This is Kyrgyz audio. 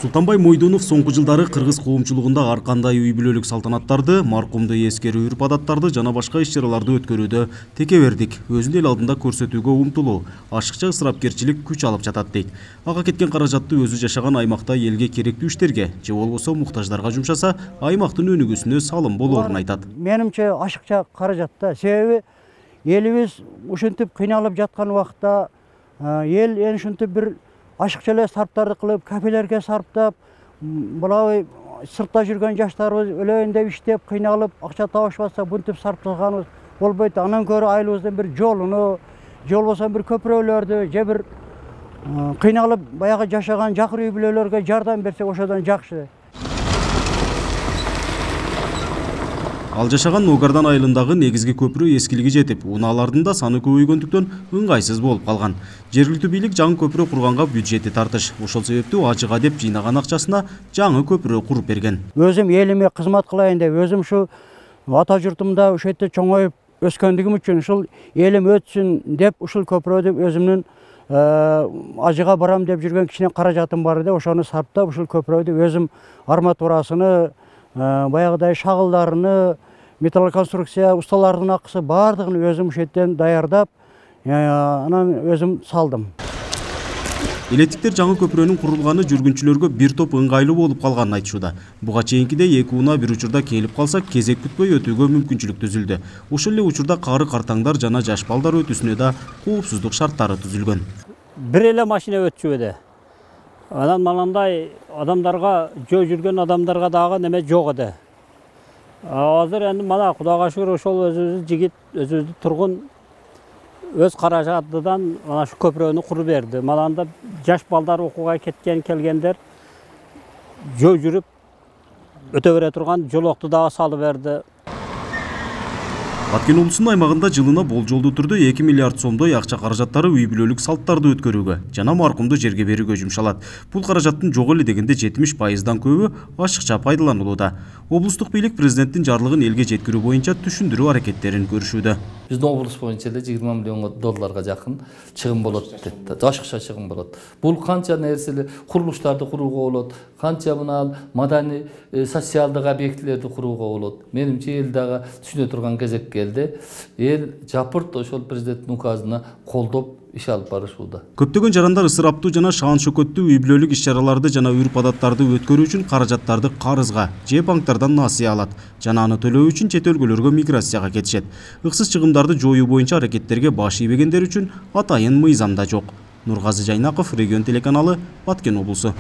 Султанбай Мойдонов соңку жылдары кыргыз коомчулугунда ар кандай үй бүлөлүк салтанаттарды, маркумду эскерүү үрп-адаттарды жана башка иш-чараларды өткөрүүдө текебердик өзүн эл алдында көрсөтүүгө умтулуу, ашыкча ысырапкерчилик күч алып жатат дейт. Ага кеткен каражатты өзү жашаган аймакта элге керектүү иштерге же болбосо муктаждарга жумшаса, аймактын өнүгүүсүнө салым болоорун айтат. Менимче ашыкча каражат да, себеби элибиз ушинтип кыйналып жаткан убакта эл ушинтип бир ашыкча эле сарптарды кылып, кафелерге сарптап, булай сыртта жүргөн жаштарыбыз өлөйүн деп иштеп, кыйналып, акча табышпаса, бунтип сарптаганыбыз болбойт. Анан көрө айылыбыздын бир жолуну, же болбосо бир көпүрөлөрдү, же бир кыйналып баягы жашаган жакыр үй бүлөлөргө жардам берсек, ошодон жакшы. Ал жашаган Ногардан айылындагы негизги көпүрө эскилиги жетип, унаалардын да саны көбөйгөндүктөн ыңгайсыз болуп калган. Жергиликтүү бийлик жаңы көпүрө курганга бюджети тартыш. Ошол себептүү ажыга деп жыйнаган акчасына жаңы көпүрө куруп берген. Өзүм элиме кызмат кылайын деп, өзүм ушу ата журтумда ушул жерде чоңоюп өскөндүгүм үчүн, ушул элим өтсүн деп ушул көпүрөдү өзүмдүн ажыга барам деп жүргөн кичине каражатым бар эди. Ошону сарптап ушул көпүрөдү өзүм арматурасыны, баягыдай шагылдарыны, металлоконструкция усталардын акысы баардыгын өзүм ушул жерден даярдап, анан өзүм салдым. Элеттиктер жаңы көпүрөнүн курулганы жүргүнчүлөргө бир топ ыңгайлуу болуп калганын айтышууда. Буга чейинкидей эки унаа бир учурда келип калса, кезек күтпөй өтүүгө мүмкүнчүлүк түзүлдү. Ошол эле учурда кары картаңдар жана жаш балдар өтүүсүнө да коопсуздук шарттары түзүлгөн. Бир эле машина өтчүбүдө. Анан манандай адамдарга, жөө жүргөн адамдарга дагы неме жок эди. Азыр эми мана Кудайга шүгүр ошол өзүбүздүн жигит, өзүбүздүн тургун өз каражатынан мана шу көпүрөнү куруп берди. Мана анда жаш балдар окууга келгендер жөө жүрүп өтө бере турган жолокту дагы салып берди. Баткен облусунун аймагында жылына болжолдуу түрдө 2 миллиард сомдой акча каражаттары үй бүлөлүк салттарды өткөрүүгө жана маркумду жерге берүүгө жумшалат. Бул каражаттын жок эле дегенде 70%дан көбү ашыкча пайдаланылууда. Облустук бийлик президенттин жарлыгын элге жеткирүү боюнча түшүндүрүү аракеттерин көрүшүүдө. Биздин облус боюнча эле 20 миллион долларга жакын чыгым болот дейт. Ашыкча чыгым болот. Бул канча нерселер, курулуштарды курууга болот, канча мына маданий, социалдык объектилерди курууга болот. Менимче эл дагы түшүнө турган кезек келди. Эл жапырт ошол президенттин указына колдоп иш алып барышууда. Көптөгөн жарандар ысыраптуу жана шаан шөкөттүү үй бүлөлүк иш-чараларды жана үрп-адаттарды өткөрүү үчүн каражаттарды карызга же банктардан насыя алат жана аны төлөө үчүн чет өлкөлөргө миграцияга кетишет. Ыксыз чыгымдарды жоюу боюнча аракеттерге баш ийбегендер үчүн атайын мыйзам да жок. Нургазы Жайнаков, Регион телеканалы, Баткен облусу.